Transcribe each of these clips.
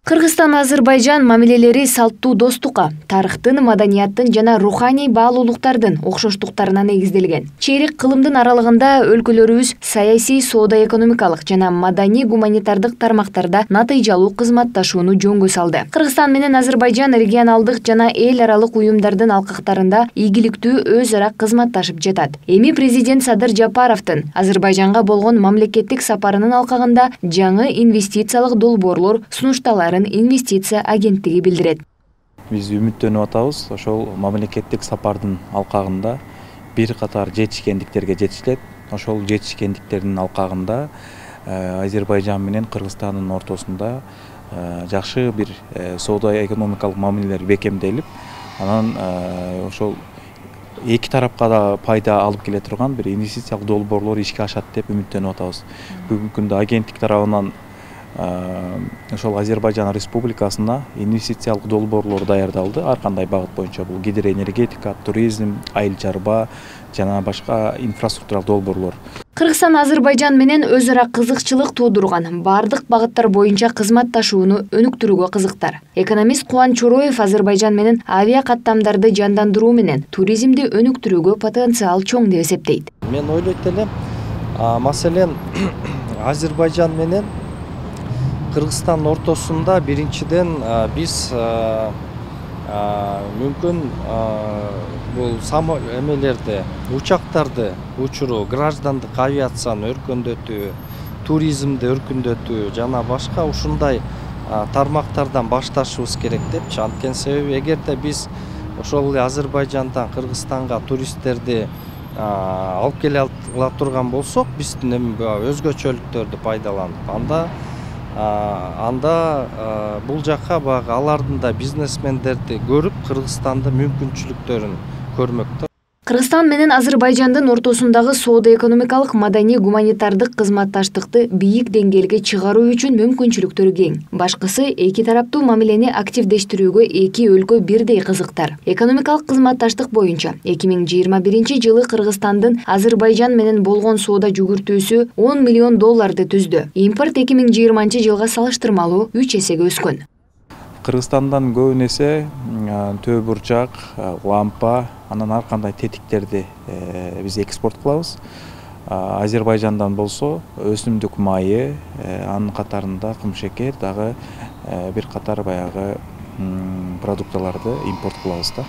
Кыргызстан Азербайжан мамилелери салттуу достукка, тарыхтын, маданияттын жана руханий баалуулуктардын окшоштуктарына негизделген. Чейрек кылымдын аралыгында өлкөлөрүбүз саясий, соода-экономикалык жана маданий-гуманитардык тармактарда натыйжалуу кызматташууну жөнгө салды. Кыргызстан менен Азербайжан регионалдык жана эл аралык уюмдардын алкактарында ийгиликтүү өз ара кызматташып жатат. Эми президент Садыр Жапаровдун Азербайжанга болгон мамлекеттик сапарынын алкагында жаңы инвестициялык долбоорлор сунушталарын инвестиция агенттиги билдирет. Биз үмүттөнүп атабыз. Ошол мамлекеттик сапардын алкагында бир катар жетишкендиктерге жетишилет. Ошол жетишкендиктердин алкагында Азербайжан менен Кыргызстандын ортосунда жакшы бир соода-экономикалык мамилелер бекемделип, анан ошол эки тарапка да пайда алып келе турган бир инвестициялык долбоорлор ишке ашат деп үмүттөнүп атабыз. Бүгүнкү күндө агенттик тарабынан ошол Азербайжан Республикасына инвестициялык долбоорлор даярдалды. Ар кандай багыт боюнча бул гидроэнергетика, туризм, айыл чарба жана башка инфраструктуралык долбоорлор. Кыргызстан Азербайжан менен өз ара кызыкчылык туудурган бардык багыттар боюнча кызматташууну өнүктүрүүгө кызыктар. Экономист Кубан Чороев Азербайжан менен авиа каттамдарды жандандыруу менен туризмди өнүктүрүүгө потенциал чоң деп эсептейт. Мен ойлойт элем, маселен Азербайжан менен Кыргызстан ортосунда биринчиден биз мүмкүн бул эмелерди, учактарды учуруу, граждандык авиацияны өркүндөтүү, туризмди өркүндөтүү жана башка ушундай тармактардан башташыбыз керек депчи. Анткени себеби эгерде биз ошол эле Азербайжандан Кыргызстанга туристтерди алып келе ала турган болсок, биздин өзгөчөлүктөрдү пайдаланып, анда бул жакка баягы алардын да бизнесмендерди көрүп, Кыргызстандын мүмкүнчүлүктөрүн көрмөк. Кыргызстан менен Азербайжандын ортосундагы соода-экономикалык, маданий-гуманитардык кызматташтыкты бийик деңгээлге чыгаруу үчүн мүмкүнчүлүктөр кең. Башкысы эки тараптуу мамилени активдештирүүгө эки өлкө бирдей кызыктар. Экономикалык кызматташтык боюнча 2021-жылы Кыргызстандын Азербайжан менен болгон соода жүгүртүүсү $10 миллион түздү. Импорт 2020-жылга салыштырмалуу 3 эсеге өскөн. Кыргызстандан көбүн эсе төө бурчак, лампа, анан ар кандай тетиктерди биз экспорт кылабыз. Азербайжандан болсо өсүмдүк майы, анын катарында кумшекер, дагы бир катар баягы продукталарды импорт кылабыз да.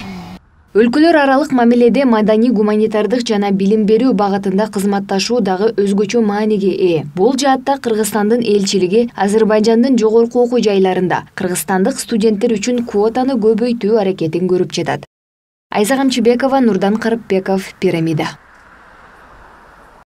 Өлкөлөр аралык мамиледе маданий-гуманитардык жана билим берүү багытында кызматташуу дагы өзгөчө мааниге ээ. Бул жаатта Кыргызстандын элчилиги Азербайжандын жогорку окуу жайларында кыргызстандык студенттер үчүн квотаны көбөйтүү аракетин көрүп жатат. Айза Камчыбекова, Нурдан Карыпбеков, Пирамида.